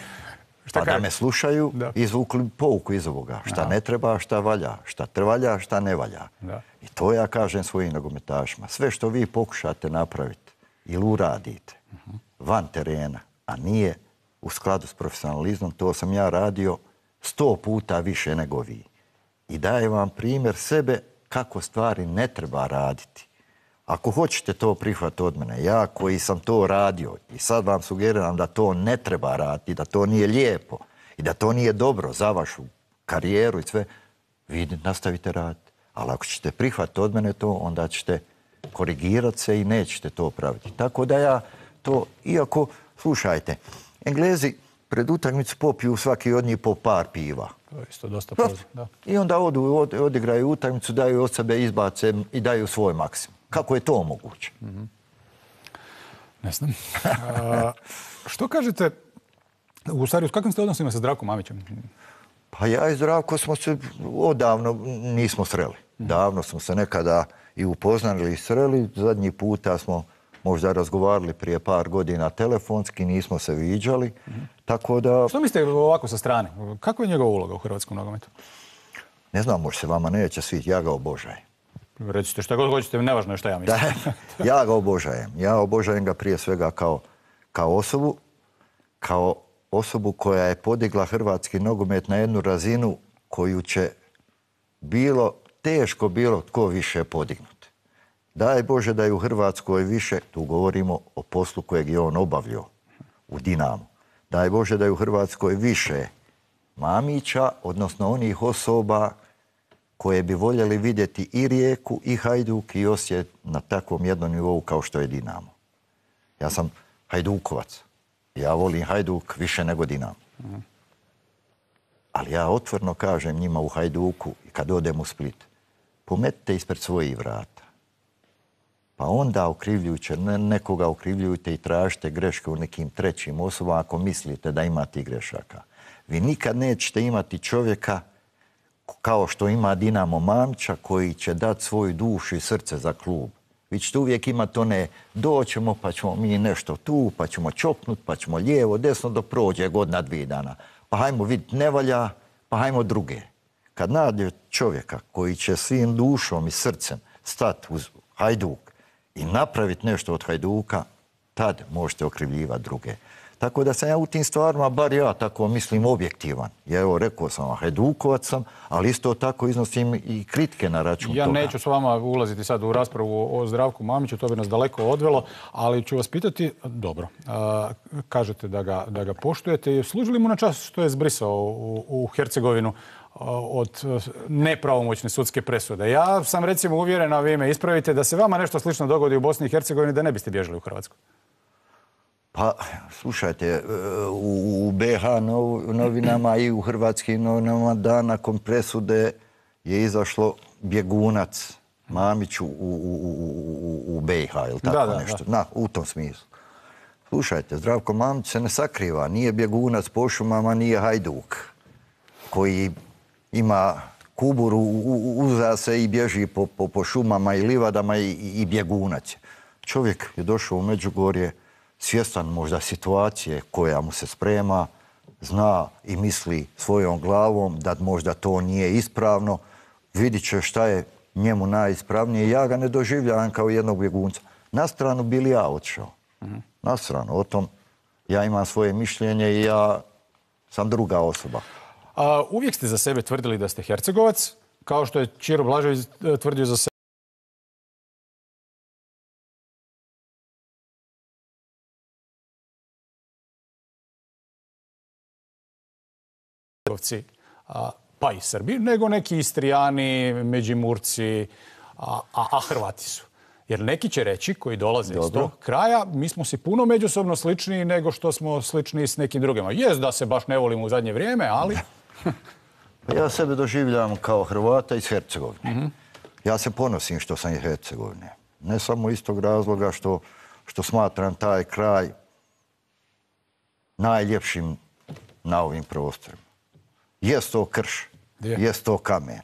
Šta pa kaže? Da me slušaju, da. Izvukli pouku iz ovoga. Šta Aha. ne treba, šta valja. Šta trvalja, šta ne valja. Da. I to ja kažem svojim nogometašima. Sve što vi pokušate napraviti ili uradite uh-huh. van terena, a nije u skladu s profesionalizmom, to sam ja radio sto puta više nego vi. I dajem vam primjer sebe kako stvari ne treba raditi. Ako hoćete to prihvatiti od mene, ja koji sam to radio i sad vam sugeriram da to ne treba raditi, da to nije lijepo i da to nije dobro za vašu karijeru i sve, vi nastavite raditi. Ali ako ćete prihvatiti od mene to, onda ćete korigirati se i nećete to praviti. Tako da ja to, iako, slušajte, Englezi pred utakmicu popiju svaki od njih po par piva. To je isto dosta poznat, da. I onda odu, od, odigraju utakmicu, daju od sebe izbace i daju svoj maksimum. Kako je to moguće? Mm-hmm. Ne znam. A, što kažete, u stvari, s kakvim ste odnosima sa Zdravkom Mamićem? Pa ja i Zdravko smo se odavno nismo sreli. Davno smo se nekada i upoznali i sreli. Zadnji puta smo možda razgovarali prije par godina telefonski, nismo se viđali. Mm-hmm. Tako da... Što mislite ovako sa strane? Kakva je njegova uloga u hrvatskom nogometu? Ne znam, možda se vama neće sviti. Ja ga obožajem. Recite šta god hoćete, nevažno je šta ja mislim. Da, ja ga obožajem. Ja obožajem ga prije svega kao, kao osobu, kao osobu koja je podigla hrvatski nogomet na jednu razinu koju će bilo, teško bilo tko više podignuti. Daj Bože da je u Hrvatskoj više, tu govorimo o poslu kojeg je on obavljao u Dinamu. Daj Bože da je u Hrvatskoj više Mamića, odnosno onih osoba koje bi voljeli vidjeti i Rijeku, i Hajduk, i Osijek na takvom jednom nivou kao što je Dinamo. Ja sam Hajdukovac. Ja volim Hajduk više nego Dinamo. Mm. Ali ja otvorno kažem njima u Hajduku, kad odem u Split, pometite ispred svojih vrata. Pa onda okrivljujuće, nekoga okrivljujte i tražite greške u nekim trećim osobama ako mislite da imate grešaka. Vi nikad nećete imati čovjeka kao što ima Dinamo Mamića koji će dati svoju dušu i srce za klub. Vi ćete uvijek imati one, doćemo pa ćemo mi nešto tu, pa ćemo čopnut, pa ćemo lijevo, desno, dok prođe godina, dvije dana. Pa hajmo vidjeti ne valja, pa hajmo druge. Kad nađe čovjeka koji će svim dušom i srcem stati uz Hajduk i napraviti nešto od Hajduka, tad možete okrivljivati druge. Tako da sam ja u tim stvarima, bar ja tako mislim, objektivan. Ja evo rekao sam vam, Hajdukovac sam, ali isto tako iznosim i kritike na račun ja toga. Ja neću s vama ulaziti sad u raspravu o Zdravku Mamiću, to bi nas daleko odvelo, ali ću vas pitati, dobro, a, kažete da ga, da ga poštujete, služi li mu na čast što je zbrisao u, u Hercegovinu od nepravomoćne sudske presude? Ja sam recimo uvjeren, a vi me ispravite, da se vama nešto slično dogodi u Bosni i Hercegovini, da ne biste bježali u Hrvatsku. Pa, slušajte, u be ha novinama i u hrvatskim novinama dan nakon presude je izašlo bjegunac Mamić u, u, u, u be ha, ili tako da, da, nešto. Da. Na, u tom smislu. Slušajte, Zdravko Mamić se ne sakriva, nije bjegunac po šumama, nije Hajduk, koji ima kuburu, uza se i bježi po, po, po šumama i livadama i, i bjegunac. Čovjek je došao u Međugorje, svjestan možda situacije koja mu se sprema, zna i misli svojom glavom da možda to nije ispravno, vidit će šta je njemu najispravnije. Ja ga ne doživljavam kao jednog bjegunca. Na stranu bili ja otišao. Mm-hmm. Na stranu. O tom ja imam svoje mišljenje i ja sam druga osoba. A, uvijek ste za sebe tvrdili da ste Hercegovac, kao što je Ćiro Blažević tvrdio za sebe. Pa i Srbi, nego neki Istrijani, Međimurci, a, a, a Hrvati su. Jer neki će reći, koji dolaze Dobro. iz tog kraja, mi smo si puno međusobno sličniji nego što smo slični s nekim drugima. Jest da se baš ne volimo u zadnje vrijeme, ali... Ja sebe doživljam kao Hrvata iz Hercegovine. Mm-hmm. Ja se ponosim što sam iz Hercegovine. Ne samo iz tog razloga što, što smatram taj kraj najljepšim na ovim prostorima. Jest to krš, jest to kamen,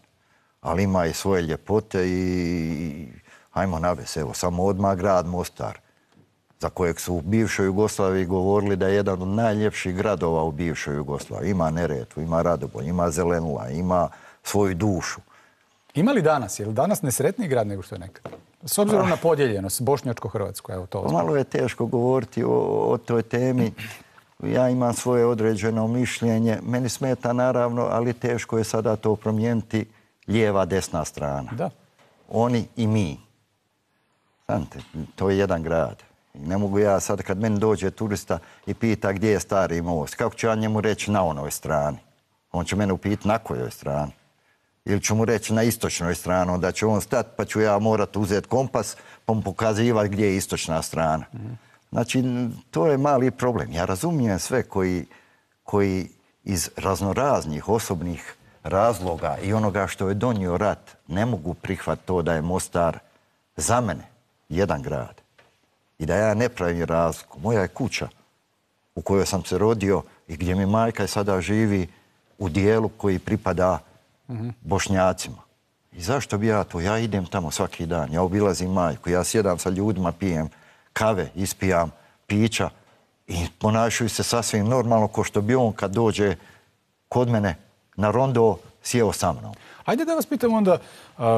ali ima i svoje ljepote i, hajmo navesti, evo, samo odmah grad Mostar, za kojeg su u bivšoj Jugoslaviji govorili da je jedan od najljepših gradova u bivšoj Jugoslaviji. Ima Neretvu, ima Radoboj, ima Zelenila, ima svoju dušu. Ima li danas? Je li danas nesretniji grad nego što je nekad? S obzirom ah. na podijeljenost, Bošnjačko-Hrvatsko, evo to. Malo je teško govoriti o, o toj temi. Ja imam svoje određeno mišljenje. Meni smeta naravno, ali teško je sada to promijeniti lijeva, desna strana. Da. Oni i mi. Znate, to je jedan grad. I ne mogu ja sad kad meni dođe turista i pita gdje je Stari most, kako ću ja njemu reći na onoj strani? On će mene upitati na kojoj strani. Ili ću mu reći na istočnoj strani, onda će on stati pa ću ja morati uzeti kompas pa mu pokazivati gdje je istočna strana. Mm-hmm. Znači, to je mali problem. Ja razumijem sve koji, koji iz raznoraznih osobnih razloga i onoga što je donio rat ne mogu prihvatiti to da je Mostar za mene jedan grad. I da ja ne pravim razliku. Moja je kuća u kojoj sam se rodio i gdje mi majka sada živi u dijelu koji pripada mm-hmm. Bošnjacima. I zašto bi ja to? Ja idem tamo svaki dan. Ja obilazim majku. Ja sjedam sa ljudima, pijem kave, ispijam pića i ponašaju se sasvim normalno ko što bi on kad dođe kod mene na rondo sjeo sa mnom. Ajde da vas pitam onda,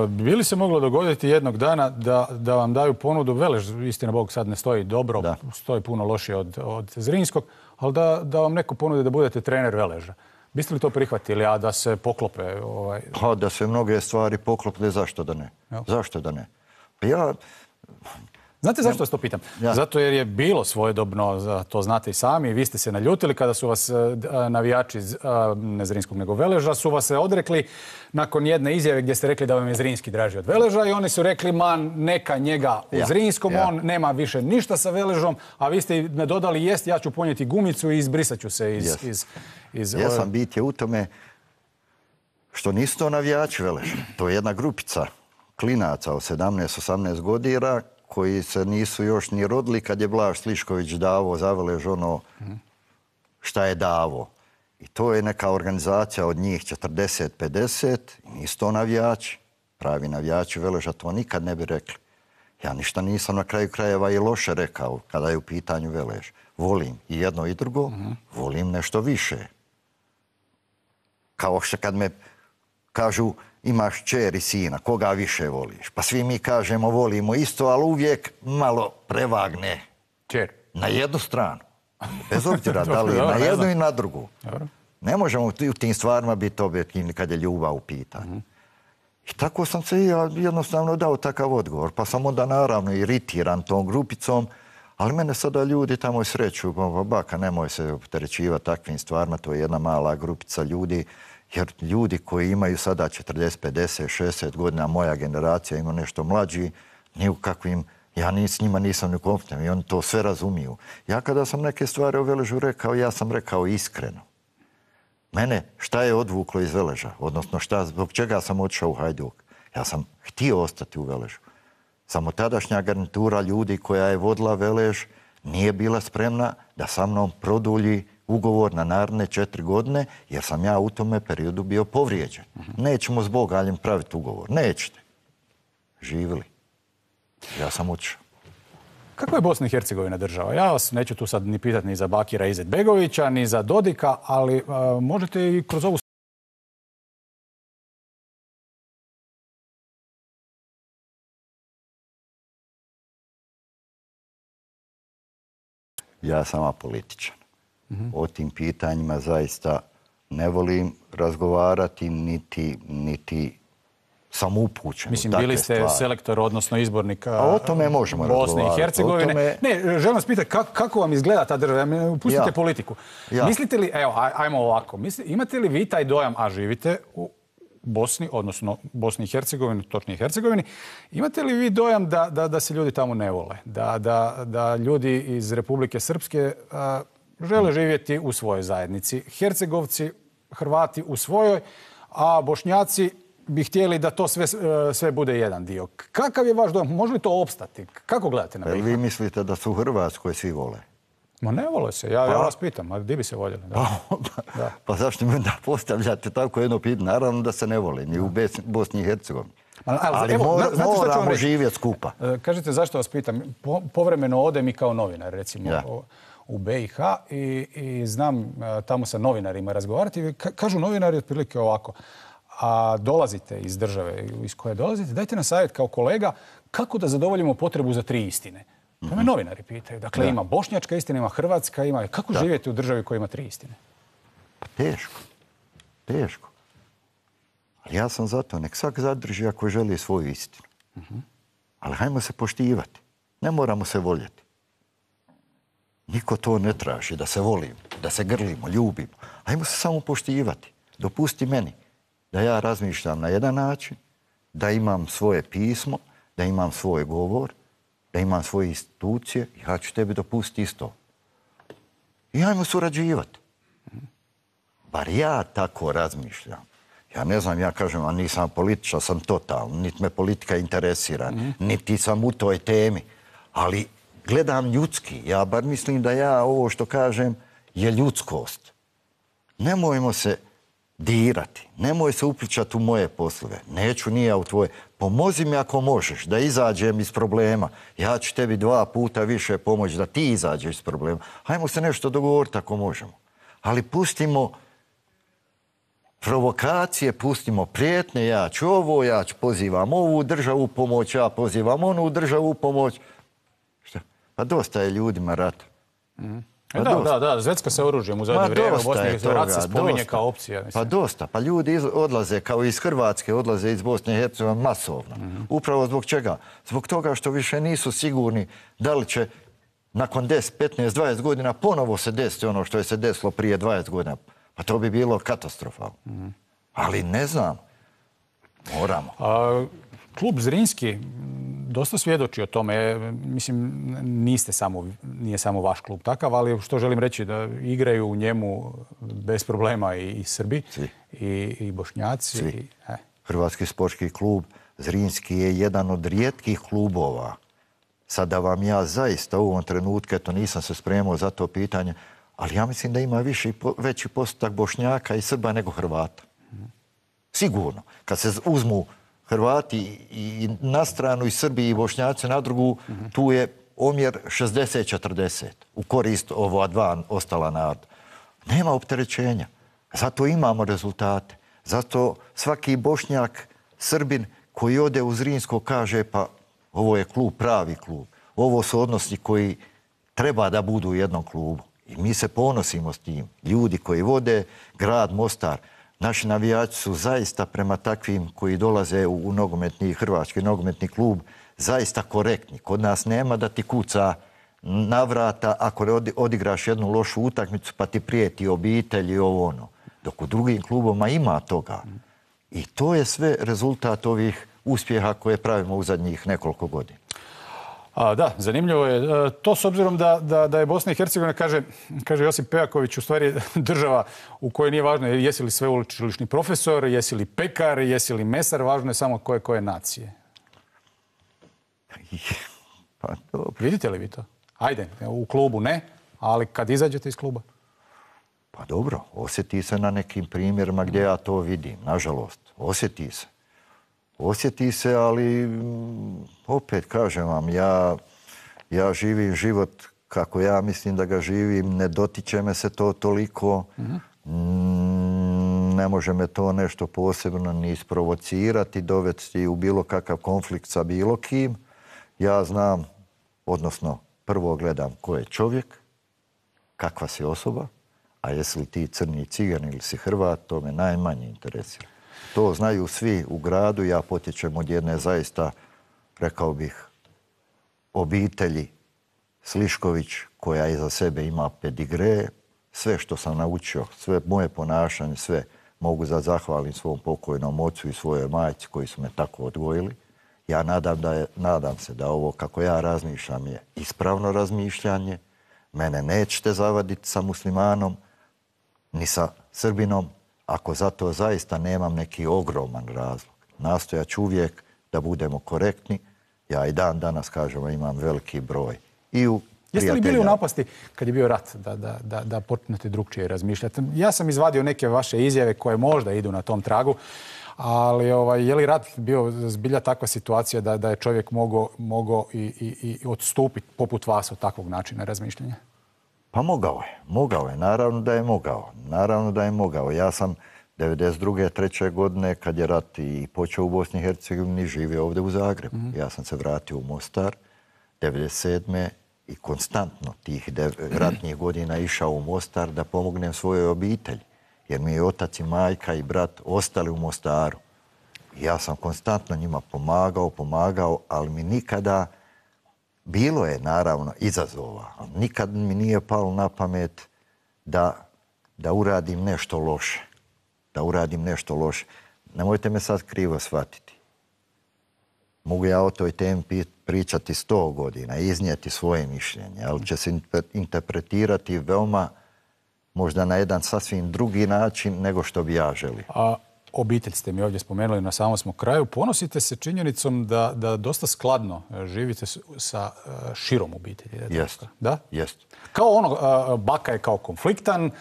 bi li se moglo dogoditi jednog dana da, da vam daju ponudu Velež, istina Bog sad ne stoji dobro, da. stoji puno lošije od, od Zrinskog, ali da, da vam neko ponudi da budete trener Veleža. Biste li to prihvatili, a da se poklope? Ovaj... Pa da se mnoge stvari poklope, zašto da ne? Ja. Zašto da ne? Pa ja... Znate zašto vas to pitam? Ja. Zato jer je bilo svojedobno, to znate i sami, vi ste se naljutili kada su vas navijači, ne Zrinskog nego Veleža, su vas se odrekli nakon jedne izjave gdje ste rekli da vam je Zrinski draži od Veleža i oni su rekli, man, neka njega u ja. Zrinskom, ja. on nema više ništa sa Veležom, a vi ste ne dodali, jest, ja ću ponijeti gumicu i izbrisat ću se iz... Yes. iz, iz ja sam bit je u tome što nisu to navijači Veleža. To je jedna grupica klinaca od sedamnaest osamnaest godina koji se nisu još ni rodili kad je Blaž Slišković davo za Velež ono šta je davo. I to je neka organizacija od njih četrdeset pedeset i nisu to navijači. Pravi navijači Veleža to nikad ne bi rekli. Ja ništa nisam na kraju krajeva i loše rekao kada je u pitanju Velež. Volim i jedno i drugo, uh-huh. volim nešto više. Kao što kad me kažu imaš čer i sina, koga više voliš? Pa svi mi kažemo volimo isto, ali uvijek malo prevagne. Čer. Na jednu stranu. Bez obzira da li na jednu i na drugu. Ne možemo u tim stvarima biti objektivni kad je ljubav u pitanju. I tako sam se ja jednostavno dao takav odgovor. Pa sam onda naravno iritiran tom grupicom, ali mene sada ljudi tamo sreću. Baka, nemoj se opterećivati takvim stvarima, to je jedna mala grupica ljudi. Jer ljudi koji imaju sada četrdeset, pedeset, šezdeset godina, moja generacija ima nešto mlađi, ni u kakvim, ja ni, s njima nisam ni kompetentan i oni to sve razumiju. Ja kada sam neke stvari o Veležu rekao, ja sam rekao iskreno. Mene šta je odvuklo iz Veleža, odnosno šta, zbog čega sam otišao u Hajduk? Ja sam htio ostati u Veležu. Samo tadašnja garnitura ljudi koja je vodila Velež nije bila spremna da sa mnom produlji ugovor na naredne četiri godine, jer sam ja u tome periodu bio povrijeđen. Nećemo s Bogaljem praviti ugovor. Nećete. Živili. Ja sam otišao. Kako je Bosna i Hercegovina država? Ja vas neću tu sad ni pitati ni za Bakira Izetbegovića, ni za Dodika, ali a, možete i kroz ovu... Ja sam apolitičan. Mm-hmm. O tim pitanjima zaista ne volim razgovarati, niti, niti sam upućen. Mislim, bili ste stvari. selektor, odnosno izbornik o tome možemo Bosne i Hercegovine. Tome... Ne, želim vas pitati kako, kako vam izgleda ta država? Pustite ja. politiku. Ja. Mislite li, evo, ajmo ovako, mislite, imate li vi taj dojam, a živite u Bosni, odnosno Bosni i Hercegovini, točnije Hercegovini, imate li vi dojam da, da, da se ljudi tamo ne vole? Da, da, da ljudi iz Republike Srpske a, žele živjeti u svojoj zajednici? Hercegovci, Hrvati u svojoj, a Bošnjaci bi htjeli da to sve, sve bude jedan dio. Kakav je vaš dojam? Može li to opstati? Kako gledate na B i H? Vi mislite da su u Hrvatskoj svi vole? Ma ne vole se. Ja, pa, ja vas pitam. A gdje bi se voljeli? Da. Pa, da. Pa zašto mi da postavljate tako jedno pitanje? Naravno da se ne vole. Ni u Bosni i Hercegovini. Ali, ali evo, mor, moramo živjeti skupa. Kažete zašto vas pitam? Po, povremeno odem i kao novinar, recimo, ja. u B i H i, i znam tamo sa novinarima razgovarati. Kažu novinari otprilike ovako. A dolazite iz države iz koje dolazite, dajte nam savjet kao kolega kako da zadovoljimo potrebu za tri istine. To me novinari pitaju. Dakle, da. ima bošnjačka istina, ima hrvatska, ima... Kako da. živjeti u državi koja ima tri istine? Pa teško. Teško. Ali ja sam zato, nek svak zadrži ako želi svoju istinu. Uh-huh. Ali hajmo se poštivati. Ne moramo se voljeti. Niko to ne traži, da se volimo, da se grlimo, ljubimo. Hajmo se samo poštivati. Dopusti meni da ja razmišljam na jedan način, da imam svoje pismo, da imam svoj govor, da imam svoje institucije, ja ću tebi dopustiti isto. I ajmo surađivati. Bar ja tako razmišljam. Ja ne znam, ja kažem, a nisam političan, sam totalno, niti me politika interesira, mm. niti sam u toj temi. Ali gledam ljudski. Ja bar mislim da ja ovo što kažem je ljudskost. Nemojmo se dirati. Nemoj se upličati u moje poslove. Neću ni ja u tvoje. Pomozi mi ako možeš da izađem iz problema. Ja ću tebi dva puta više pomoći da ti izađeš iz problema. Hajmo se nešto dogovoriti ako možemo. Ali pustimo provokacije, pustimo prijetnje. Ja ću ovo, ja ću pozivam ovu državu pomoć, ja pozivam onu državu pomoć. Šta? Pa dosta je ljudima rata. Mm. Pa da, da, da, zvecka se oružjem u zadnje vrijeme u Bosni i Rat se spominje kao opcija. Mislim. Pa dosta. Pa ljudi iz, odlaze, kao iz Hrvatske, odlaze iz Bosne i Hercegovine masovno. Mm-hmm. Upravo zbog čega? Zbog toga što više nisu sigurni da li će nakon deset, petnaest, dvadeset godina ponovo se desiti ono što je se desilo prije dvadeset godina. Pa to bi bilo katastrofalno. Mm-hmm. Ali ne znam. Moramo. A, klub Zrinski dosta svjedoči o tome. Mislim, niste samo, nije samo vaš klub takav, ali što želim reći, da igraju u njemu bez problema i, i Srbi, i, i Bošnjaci. Svi. I, eh. Hrvatski sportski klub Zrinski je jedan od rijetkih klubova. Sada vam ja zaista u ovom trenutku, eto nisam se spremao za to pitanje, ali ja mislim da ima viši, veći postotak Bošnjaka i Srba nego Hrvata. Sigurno. Kad se uzmu Hrvati i na stranu i Srbi i Bošnjaci na drugu, mm-hmm. tu je omjer šezdeset četrdeset u korist ova dva ostala naroda. Nema opterećenja. Zato imamo rezultate. Zato svaki Bošnjak, Srbin koji ode u Zrinsko kaže pa ovo je klub, pravi klub. Ovo su odnosi koji treba da budu u jednom klubu. I mi se ponosimo s tim. Ljudi koji vode grad Mostar, naši navijači su zaista prema takvim koji dolaze u, u nogometni, hrvatski nogometni klub, zaista korektni. Kod nas nema da ti kuca na vrata ako odigraš jednu lošu utakmicu pa ti prijeti obitelj i ovo ono. Dok u drugim klubovima ima toga. I to je sve rezultat ovih uspjeha koje pravimo u zadnjih nekoliko godina. A, da, zanimljivo je. To s obzirom da, da, da je Bosna i Hercegovina, kaže, kaže Josip Pejaković, u stvari država u kojoj nije važno jesi li sveučilišni profesor, jesi li pekar, jesi li mesar, važno je samo koje koje nacije. Pa dobro. Vidite li vi to? Ajde, u klubu ne, ali kad izađete iz kluba? Pa dobro, osjeti se na nekim primjerima gdje ja to vidim, nažalost. Osjeti se. Osjeti se, ali opet kažem vam, ja, ja živim život kako ja mislim da ga živim, ne dotiče me se to toliko, mm-hmm. ne može me to nešto posebno ni isprovocirati, dovesti u bilo kakav konflikt sa bilo kim. Ja znam, odnosno prvo gledam ko je čovjek, kakva si osoba, a jesi li ti crni cigan ili si Hrvat, to me najmanje interesira. To znaju svi u gradu, ja potječem od jedne zaista, rekao bih, obitelji Slišković, koja iza sebe ima pedigre, sve što sam naučio, sve moje ponašanje, sve mogu da zahvalim svom pokojnom ocu i svojoj majci koji su me tako odgojili. Ja nadam, da je, nadam se da ovo kako ja razmišljam je ispravno razmišljanje. Mene nećete zavaditi sa muslimanom, ni sa Srbinom, ako zato zaista nemam neki ogroman razlog. Nastojat ću uvijek da budemo korektni. Ja i dan danas, kažemo, imam veliki broj. I u Jeste li bili u napasti kad je bio rat da, da, da, da počnete drugčije razmišljati? Ja sam izvadio neke vaše izjave koje možda idu na tom tragu, ali ovaj, je li rat bio zbilja takva situacija da, da je čovjek mogao, mogao i, i, i odstupiti poput vas od takvog načina razmišljanja? Pa mogao je, mogao je, naravno da je mogao, naravno da je mogao. Ja sam devedeset druge treće godine, kad je rat i počeo u Bosni i Hercegovini, živio ovdje u Zagrebu. Mm-hmm. Ja sam se vratio u Mostar, devedeset sedme i konstantno tih ratnih godina išao u Mostar da pomognem svojoj obitelji, jer mi je otac i majka i brat ostali u Mostaru. I ja sam konstantno njima pomagao, pomagao, ali mi nikada... Bilo je, naravno, izazova, ali nikad mi nije palo na pamet da, da uradim nešto loše. Da uradim nešto loše. Nemojte me sad krivo shvatiti. Mogu ja o toj temi pričati sto godina, iznijeti svoje mišljenje, ali će se interpretirati veoma, možda na jedan sasvim drugi način nego što bi ja želio. A obitelj ste mi ovdje spomenuli, na samom smo kraju. Ponosite se činjenicom da, da dosta skladno živite sa širom obitelji. Jest. Da? Jest. Kao ono, baka je kao konfliktan,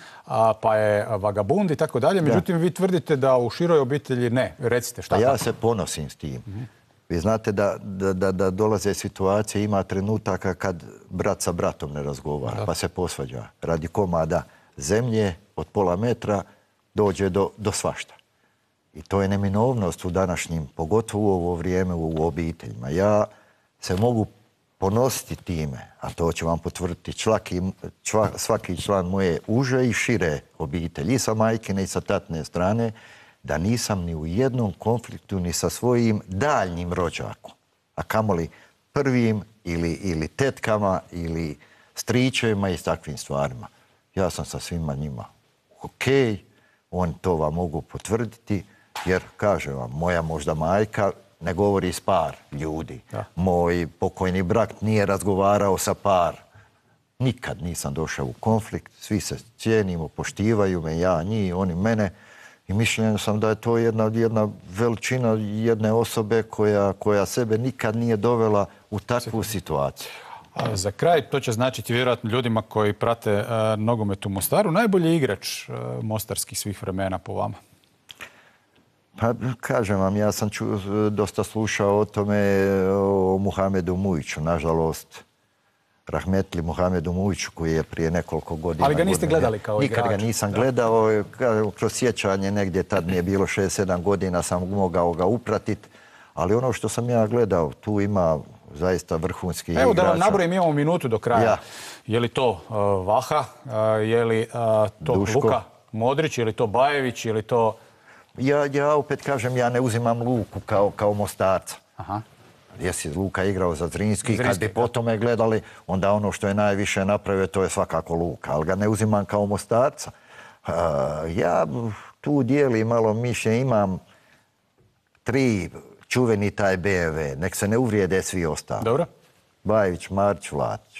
pa je vagabund i tako dalje. Međutim, vi tvrdite da u široj obitelji ne. Recite šta. Pa ja se ponosim s tim. Mm-hmm. Vi znate da, da, da, da dolaze situacije, ima trenutaka kad brat sa bratom ne razgovara, da. Pa se posvađa. Radi komada zemlje od pola metra dođe do, do svašta. I to je neminovnost u današnjim, pogotovo u ovo vrijeme u obiteljima. Ja se mogu ponositi time, a to će vam potvrditi svaki, čva, svaki član moje uže i šire obitelji, i sa majkine i sa tatne strane, da nisam ni u jednom konfliktu ni sa svojim daljnjim rođakom, a kamoli prvim ili, ili tetkama ili stričevima i s takvim stvarima. Ja sam sa svima njima okej, okay, oni to vam mogu potvrditi, jer, kažem vam, moja možda majka ne govori s par ljudi. Da. Moj pokojni brat nije razgovarao sa par. Nikad nisam došao u konflikt, svi se cijenimo, poštivaju me, ja, njih, oni mene. I mišljen sam da je to jedna, jedna veličina jedne osobe koja, koja sebe nikad nije dovela u takvu situaciju. A za kraj, to će značiti vjerojatno ljudima koji prate uh, nogomet u Mostaru. Najbolji igrač uh, mostarskih svih vremena po vama? Pa, kažem vam, ja sam ču, dosta slušao o tome, o Muhamedu Mujiću. Nažalost, rahmetli Muhamedu Mujiću, koji je prije nekoliko godina... Ali ga niste godina, gledali kao nikad igrač? Nikad ga nisam da. gledao. Kroz sjećanje negdje, tad mi je bilo šest sedam godina, sam mogao ga upratiti. Ali ono što sam ja gledao, tu ima zaista vrhunski igrač. Evo da vam nabrojim, imamo minutu do kraja. Ja. Je li to uh, Vaha, uh, je li uh, to Duško. Luka Modrić, je li to Bajević, je li to... Ja, ja opet kažem, ja ne uzimam Luku kao, kao Mostarca. Aha. Jesi Luka igrao za Zrinski, Zrinski, kad bi po tome gledali, onda ono što je najviše napravio, to je svakako Luka, ali ga ne uzimam kao Mostarca. Uh, ja tu dijeli malo mišlje, imam tri čuveni taj B M W, nek se ne uvrijede svi ostali. Dobro. Bajević, Marić, Vlatić.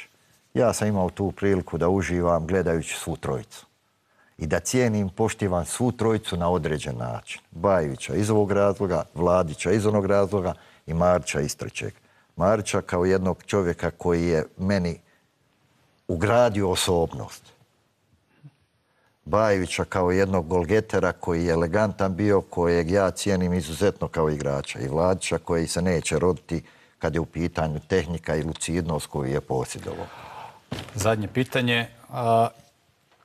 Ja sam imao tu priliku da uživam gledajući svu trojicu. I da cijenim, poštivam svu trojicu na određen način. Bajevića iz ovog razloga, Vladića iz onog razloga i Marića iz trećeg. Marića kao jednog čovjeka koji je meni ugradio osobnost. Bajevića kao jednog golgetera koji je elegantan bio, kojeg ja cijenim izuzetno kao igrača. I Vladića koji se neće roditi kad je u pitanju tehnika i lucidnost koju je posjedovao. Zadnje pitanje. A,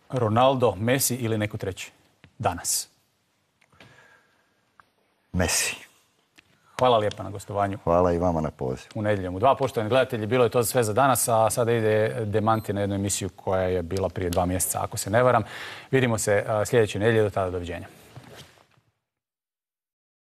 Ronaldo, Messi ili neko treći? Danas. Messi. Hvala lijepa na gostovanju. Hvala i vama na pozivu. U nedjeljom u dva. Poštovani gledatelji, bilo je to sve za danas, a sada ide demanti na jednu emisiju koja je bila prije dva mjeseca, ako se ne varam. Vidimo se sljedeće nedjelje, do tada doviđenja.